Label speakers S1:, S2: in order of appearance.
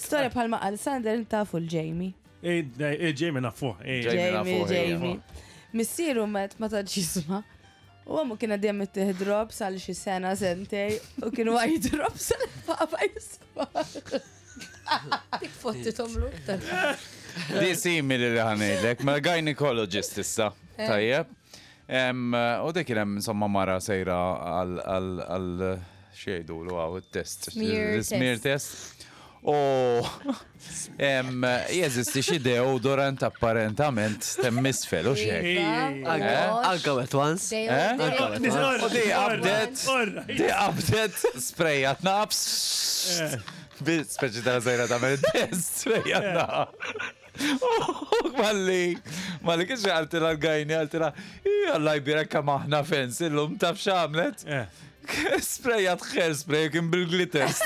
S1: Storja bħalma qal Sander tafu l-Jamie.
S2: Jamie nafuh.
S1: Jamie, Jamie. Missieru met ma tantx jisma'. U għamu kien għadjem ittih drops għal xi sena sentej u kienu għaj drops għal papa jisma'.
S3: Dik fotti tomlu.
S4: Di simili li ħanejdlek, ma gynecologist issa. Eh. Tajjeb. U dik kien hemm insomma mara sejra għal xejdu l għaw test. Smear test. U jeżisti xi deodorant apparentament temm isfel u xek.
S5: Anka wet once.
S4: U di qabdet, di qabdet sprejjat naqs. Speċi ta' sejra ta' test, sprejjat naqs. Malli, malli kiex għaltila l-gajni, għaltila, Alla jbirek kemm aħna fens, illum taf x'għamlet? Sprejjat hairspray kien bil-glitters.